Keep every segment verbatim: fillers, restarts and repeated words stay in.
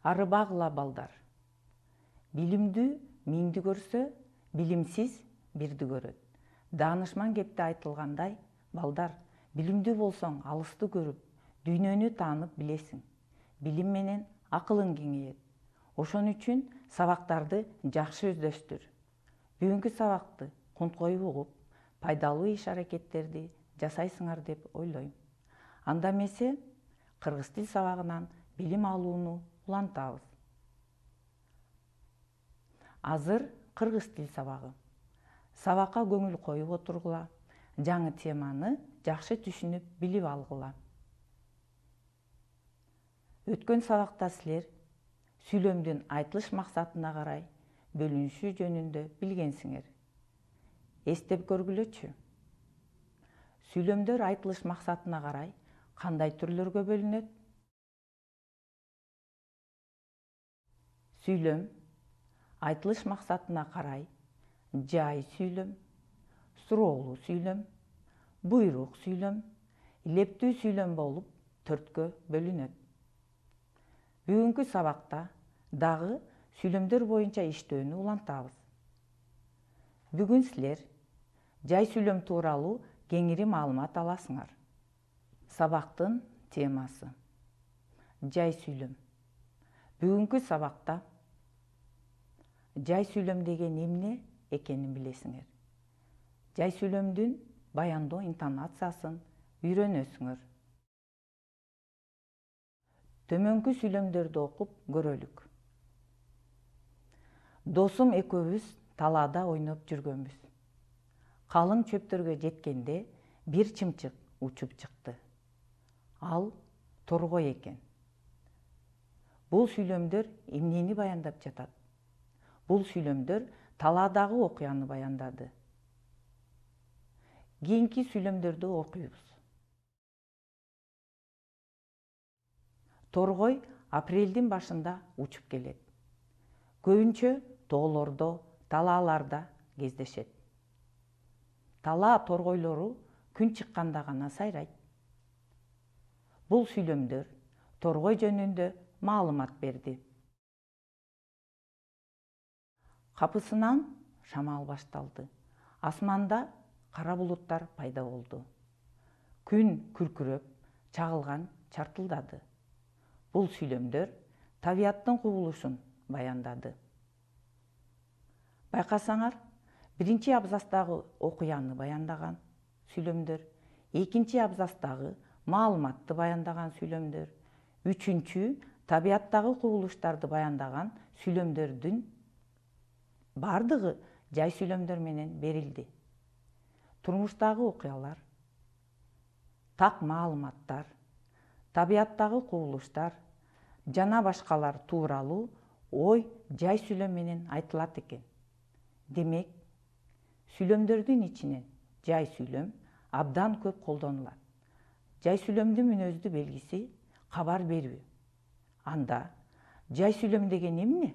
Арыбагыла балдар. Билимдүү миңди көрсө, билимсиз бирди көрөт. Даанышман кепте айтылгандай, балдар, билимдүү болсоң алысты көрүп, дүйнөнү таанып билесиң. Билим менен акылың кеңейет. Ошон үчүн сабактарды жакшы өздөштүр. Бүгүнкү сабакты кунткоюп угуп, пайдалуу иш-аракеттерди жасайсыңар деп ойлойм. Анда эмесе, кыргыз тил сабагынан билим алууну улантабыз. Азыр кыргыз тил сабагы. Сабакка көңүл коюп отургула, жаңы теманы жакшы түшүнүп, билип алгыла. Өткөн сабакта силер сүйлөмдүн айтылыш максатына карай бөлүнүшү жөнүндө билгенсиңер. Эстеп көргүлөчү. Сүйлөмдөр айтылыш максатына карай кандай түрлөргө бөлүнөт? Сүйлөм айтылыш максатына карай жай сүйлөм, суроолуу сүйлөм, буйрук сүйлөм, илептүү сүйлөм болуп төрткө бөлүнөт. Бүгүнкү сабакта дагы сүйлөмдөр боюнча иштөөнү улантабыз. Бүгүн силер жай сүйлөм тууралуу кеңири маалымат аласыңар. Сабактын темасы жай сүйлөм. Бүгүнкү сабакта жай сүйлөм деген эмне экенин билесиңер. Жай сүйлөмдүн баяндоо интонациясын үйрөнөсүңөр. Төмөнкү сүйлөмдөрдү окуп көрөлүк. Досум экөөбүз талаада ойноп жүргөнбүз. Калың чөптөргө жеткенде бир чымчык учуп чыкты. Ал торгой экен. Бул сүйлөмдөр эмнени баяндап жатат? Бул сүйлөмдөр талаадагы окуяны баяндады. Кийинки сүйлөмдөрдү окуйбуз. Торгой апрелдин башында учуп келет. Көбүнчө тоолордо, талааларда кездешет. Талаа торгойлору күн чыкканда гана сайрайт. Бул сүйлөмдөр торгой жөнүндө маалымат берди. Капысынан шамал башталды. Асманда кара булуттар пайда болду. Күн күркүрөп, чагылган чартылдады. Бул сүйлөмдөр табияттын кубулушун баяндады. Байкасаңар, биринчи абзацтагы окуяны баяндаган сүйлөмдөр, экинчи абзацтагы маалыматты баяндаган сүйлөмдөр, үчүнчү табияттагы кубулуштарды баяндаган сүйлөмдөрдүн бардыгы жай сүйлөмдөр менен берилди. Турмуштагы окуялар, так маалыматтар, табияттагы кубулуштар жана башкалар тууралуу ой жай сүйлөм менен айтылат экен. Демек, сүйлөмдөрдүн ичинен жай сүйлөм абдан көп колдонулат. Жай сүйлөмдүн мүнөздүү белгиси кабар берүү. Анда жай сүйлөм деген эмне?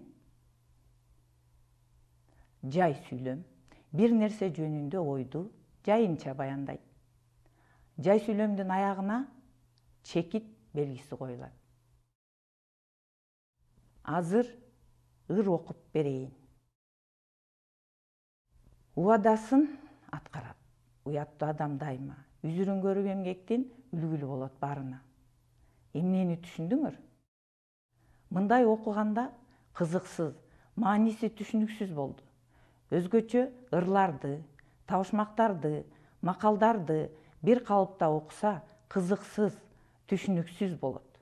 Жай сүйлөм бир нерсе жөнүндө ойду жайынча баяндайт. Жай сүйлөмдүн аягына чекит белгиси коюлат. Азыр ыр окуп берейин. Убадасын аткарат. Уяттуу адам дайыма үзүрүн көрүп эмгектин үлгүлүү болот баарына. Эмнени түшүндүңөр? Мындай окуганда кызыксыз, мааниси түшүнүксүз болду. Өзгөчө ырларды, табышмактарды, макалдарды бир калыпта окуса кызыксыз, түшүнүксүз болот.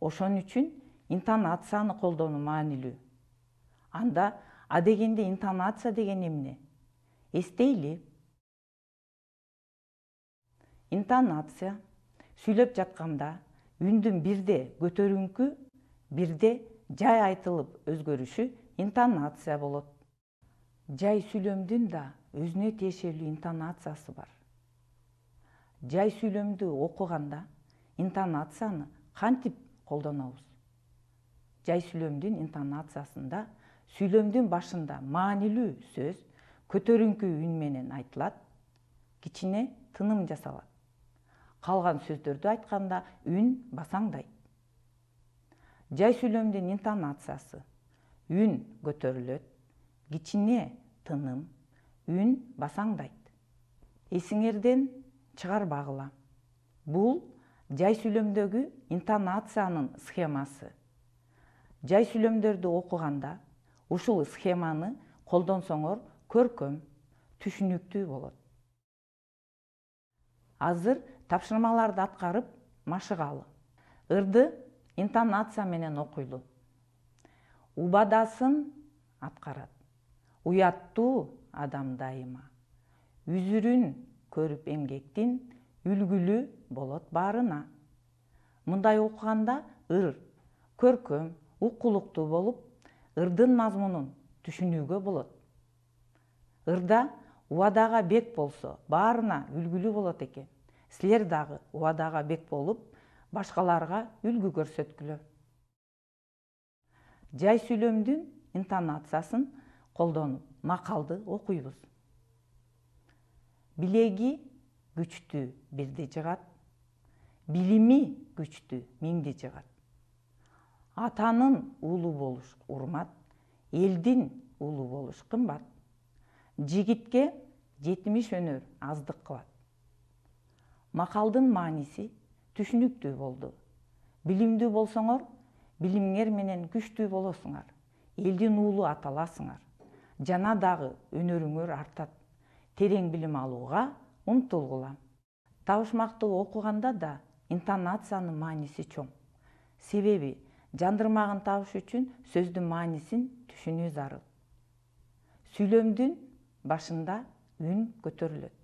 Ошон үчүн интонацияны колдонуу маанилүү. Анда адегенде интонация деген эмне? Эстейли. Интонация сүйлөп жатканда үндүн бирде көтөрүңкү, бирде жай айтылып өзгөрүшү интонация болот. Жай сүйлөмдүн да өзүнө тиешелүү интонациясы бар. Жай сүйлөмдү окуганда интонацияны кантип колдонобуз? Жай сүйлөмдүн интонациясында сүйлөмдүн башында маанилүү сөз көтөрүңкү үн менен айтылат, кичине тыным жасалат. Калган сөздөрдү айтканда үн басаңдайт. Жай сүйлөмдүн интонациясы: үн көтөрүлөт, кичине тыным, үн басаңдайт. Эсиңерден чыгарбагыла. Бул жай сүйлөмдөгү интонациянын схемасы. Жай сүйлөмдөрдү окуганда ушул схеманы колдонсоңор көркөм, түшүнүктүү болот. Азыр тапшырмаларды аткарып машыгалы. Ырды интонация менен окуйлу. Убадасын аткарат. Уяттуу адам дайыма. Үзүрүн көрүп эмгектин, үлгүлүү болот баарына. Мындай окуганда ыр көркөм, уккулуктуу болуп, ырдын мазмунун түшүнүүгө болот. Ырда убадага бек болсо, баарына үлгүлүү болот экен. Силер дагы убадага бек болуп, башкаларга үлгү көрсөткүлө. Жай сүйлөмдүн интонациясын колдонуп макалды окуйбуз. Билеги күчтүү бирди жыгат, билими күчтүү миңди жыгат. Атанын уулу болуш урмат, элдин уулу болуш кымбат. Жигитке жетимиш өнөр аздык кылат. Макалдын мааниси түшүнүктүү болду. Билимдүү болсоңор, билимиңер менен күчтүү болосуңар. Элдин уулу аталасыңар. Жана дагы өнөрүңөр артат. Терең билим алууга умтулгула. Табышмакты окуганда да интонациянын мааниси чоң. Себеби жандырмагын табыш үчүн сөздүн маанисин түшүнүү зарыл. Сүйлөмдүн башында үн көтөрүлөт.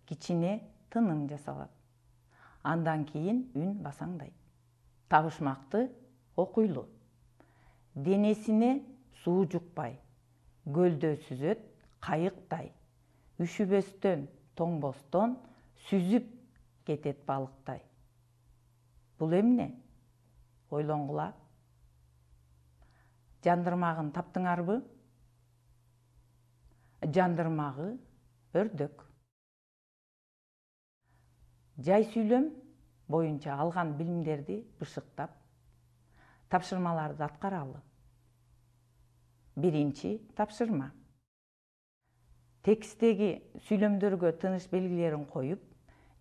Кичине тыным жасалат. Андан кийин үн басаңдайт. Табышмакты окуйлу. Денесине суу жукпай, көлдө сүзөт кайыктай. Үшүбөстөн, тоңбостон сүзүп кетет балыктай. Бул эмне? Ойлонгула. Жандырмагын таптыңарбы? Жандырмагы өрдөк. Жай сүйлөм боюнча алган билимдерди бышыктап, тапшырмаларды аткаралы. Биринчи тапшырма. Текстеги сүйлөмдөргө тыныш белгилерин коюп,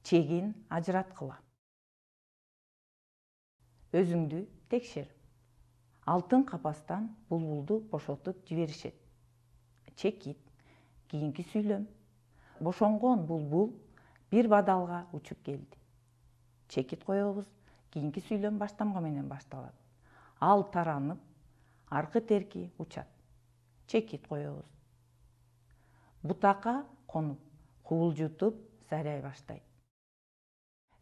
чегин ажыраткыла. Өзүңдү текшер. Алтын капастан булбулду бошотуп жиберишет. Чекит. Кийинки сүйлөм. Бошонгон булбул бир бадалга учуп келди. Чекит коебуз. Кийинки сүйлөм баштамга менен башталат. Ал таранып, аркы терки учат. Чекит коебуз. Бутакка конуп, кубулжутуп сайрай баштайт.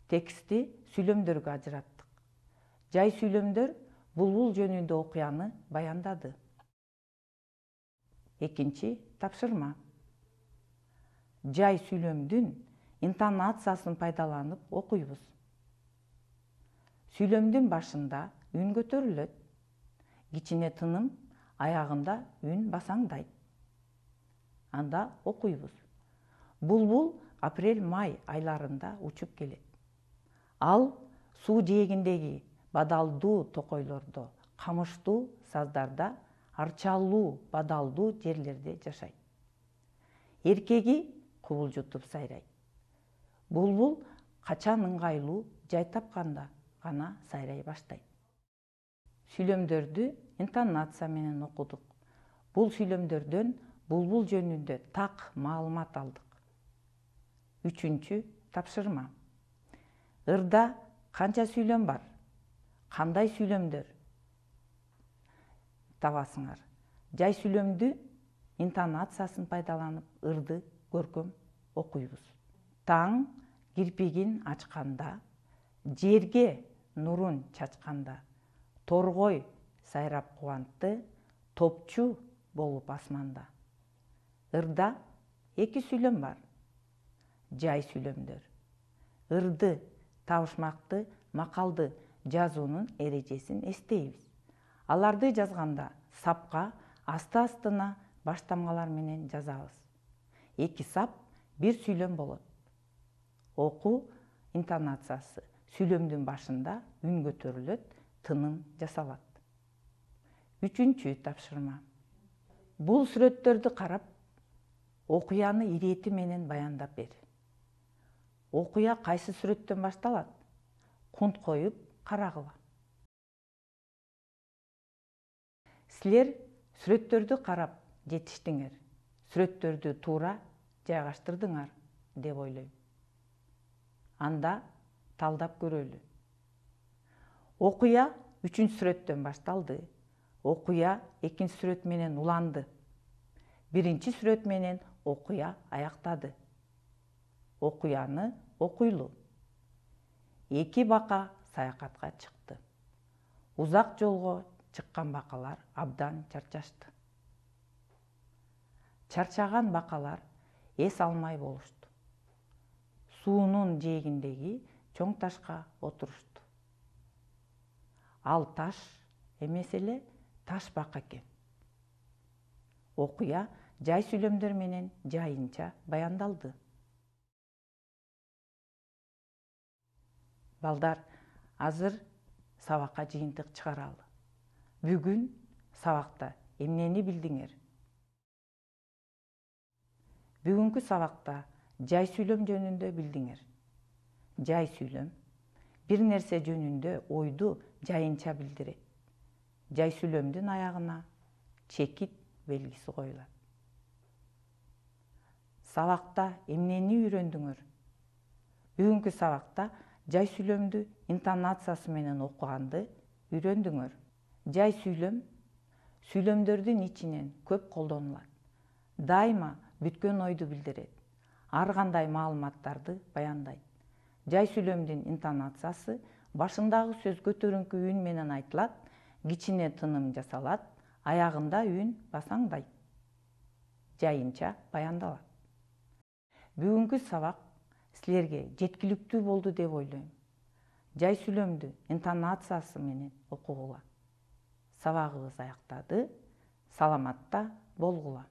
Текстти сүйлөмдөргө ажыраттык. Жай сүйлөмдөр булбул жөнүндө окуяны баяндады. Экинчи тапшырма. Жай сүйлөмдүн интонациясын пайдаланып окуйбуз. Сүйлөмдүн башында үн көтөрүлөт. Кичине тыным, аягында үн басаңдайт. Анда окуйбуз. Булбул апрель-май айларында учуп келет. Ал суу жээгиндеги бадалдуу токойлордо, камыштуу саздарда, арчалуу бадалдуу жерлерде жашайт. Эркеги кубулжутуп сайрайт. Булбул качан ыңгайлуу жай тапканда гана сайрай баштайт. Сүйлөмдөрдү интонация менен окудук. Бул сүйлөмдөрдөн булбул жөнүндө так маалымат алдык. Үчүнчү тапшырма. Ырда канча сүйлөм бар? Кандай сүйлөмдөр табасыңар? Жай сүйлөмдү интонациясын пайдаланып ырды көркөм окуйбуз. Таң кирпигин ачканда, жерге нурун чачканда, торгой сайрап кубантты, топчу болуп асманда. Ырда эки сүйлөм бар. Жай сүйлөмдөр. Ырды, табышмакты, макалды жазуунун эрежесин эстейбиз. Аларды жазганда сапка асты-астына баштамгалар менен жазабыз. Эки сап бир сүйлөм болот. Окуу интонациясы. Сүйлөмдүн башында үн көтөрүлөт, тыным жасалат. Үчүнчү тапшырма. Бул сүрөттөрдү карап, окуяны ирети менен баяндап бер. Окуя кайсы сүрөттөн башталат? Кунт коюп карагыла. Силер сүрөттөрдү карап жетиштиңер, сүрөттөрдү туура жайгаштырдыңар деп ойлойм. Анда талдап көрөлү. Окуя үчүнчү сүрөттөн башталды. Окуя экинчи сүрөт менен уланды. Биринчи сүрөт менен окуя аяктады. Окуяны окуйлу. Эки бака саякатка чыкты. Узак жолго чыккан бакалар абдан чарчашты. Чарчаган бакалар эс алмай болушту. Суунун жээгиндеги чоң ташка отурушту. Ал таш эмес эле таш бака экен. Окуя жай сүйлөмдөр менен жайынча баяндалды. Балдар, азыр сабакка жыйынтык чыгаралы. Бүгүн сабакта эмнени билдиңер? Бүгүнкү сабакта жай сүйлөм жөнүндө билдиңер. Жай сүйлөм бир нерсе жөнүндө ойду жайынча билдирет. Жай сүйлөмдүн аягына чекит белгиси коюлат. Сабакта эмнени үйрөндүңөр? Бүгүнкү сабакта жай сүйлөмдү интонациясы менен окуганды үйрөндүңөр. Жай сүйлөм сүйлөмдөрдүн ичинен көп колдонулат. Дайыма бүткөн ойду билдирет. Ар кандай маалыматтарды баяндайт. Жай сүйлөмдүн интонациясы башындагы сөз көтөрүңкү үн менен айтылат, кичине тыным жасалат, аягында үн басаңдайт. Жайынча баяндалат. Бүгүнкү сабак силерге жеткиликтүү болду деп ойлойм. Жай сүйлөмдү интонациясы менен окугула. Сабагыбыз аяктады. Саламатта болгула.